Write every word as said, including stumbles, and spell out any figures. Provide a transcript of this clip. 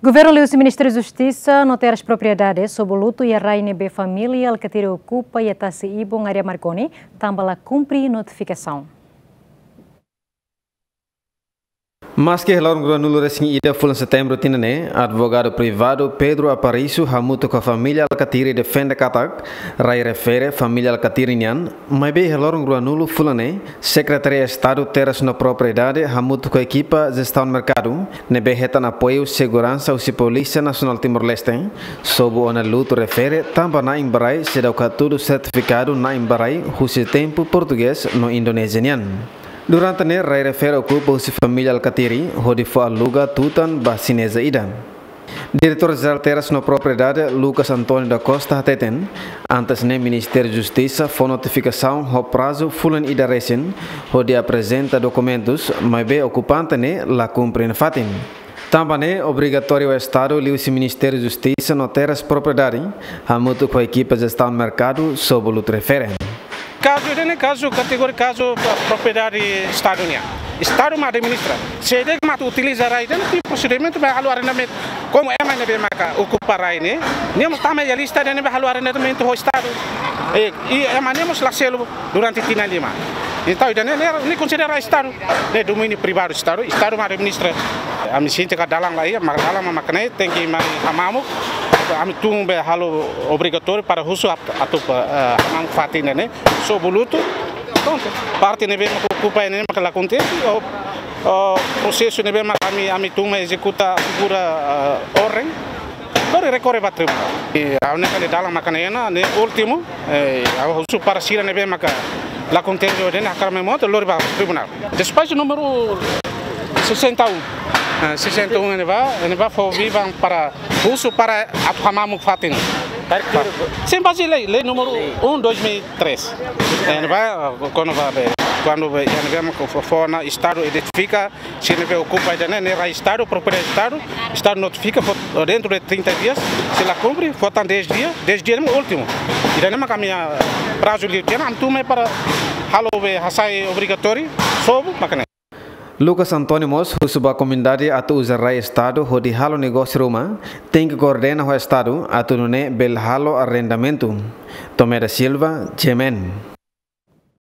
Governu liuhusi Ministériu Justisa no Terras Propriedade sobu lutu iha rai ne'ebé família Alkatiri okupa iha Tasi Ibun, área Marconi, tanba la kumpre notifikasaun. Maski iha loron ruanulu-resin-ida fulan Setembru tinan ne'e, advogadu privadu Pedro Aparício hamutuk ho família Alkatiri defende katak rai refere família Alkatiri nian, maibé iha loron ruanulu fulan ne'e, Sekretaria Estadu Terras no Propriedade hamutuk ho ekipa jestaun merkadu ne'ebé hetan apoiu seguransa husi Polísia Nasionál Timor-Leste sobu ona lutu refere tanba na'in ba rai seidauk hatudu sertifikadu na'in ba rai husi tempu portugés no Indonézia nian. Durante ne'e rai refere okupa husi família Alkatiri hodi fó aluga tutan ba xineza ida. Diretór Jerál Terras no Propriedade, Lucas António da Costa, hateten, antes ne'e Ministériu Justisa fó notifikasaun ho prazu fulan ida resin hodi aprezenta dokumentus, maibé okupante ne'e la kumpre nafatin. Tanba ne'e obrigatóriu Estadu liuhusi Ministériu Justisa no Terras Propriedade hamutuk ho ekipa jestaun merkadu sobu lutu refere. Kazu ida-ne'e kazu kategoria kazu propriedade Estadu nian. Estadu mak administra. Se ida-ne'e mak atu utiliza rai ida-ne'e, iha prosedimentu ba halo arrendamentu. Komu ema ne'ebé maka okupa rai ne'e, nia mós tama iha lista ida-ne'ebé halo arrendamentu ho Estadu. E, i ema ne'e mós la selu durante tinan lima. Entaun ida-ne'e, ne'e, ne'e konsidera Estadu. Ne'e domíniu privadu Estadu, Estadu mak administra. Ami sente katak dalan laiha, mak dalan mak mak ne'e, tenke mai hamamuk. Ami tun be halo obrigatóriu para husu atu, eh, hamamuk fatin ne'e, sobu lutu. Prontu. Parte ne'ebé mak okupa ne'e mak la kontente, o, o prosesu ne'ebé mak ami, ami tun mai ezekuta figura, eh, orden. Lori rekorre ba tribunál. I ha'u-nia kali dalan mak ne'e ona, ne'e últimu, eh, ha'u husu para sira ne'ebé maka la kontente ho ida-ne'e hakarak mai mota, lori ba tribunál. Despaxu númeru sessenta e um. Ah, sessenta e um ne'ebá, ne'ebá fó vivan para husu para atu hamamuk fatin. Sim, bazeia lei, lei número um, dois mil e três. Ne'ebá, ah, kuandu ba be, kuandu be, ne'ebé mak fó, fó ona Estadu identifika, se ne'ebé okupa ida-ne'e, ne'e rai Estadu, propriedade Estadu, Estadu notifika, fó dentro de trinta dias, se la kumpre, fó tan dez dias, dez dias ne'e últimu. Ida-ne'e mak ami-nia prazu liu tiha ona, ami tun mai para halo be hasai obrigatóriu, sobu, mak ne'e. Lucas António mós husu ba komunidade atu uza rai Estadu hodi halo negósiu ruma, tenke koordena ho Estadu atu nune'e bele halo arrendamentu. Tomé da Silva, G M N.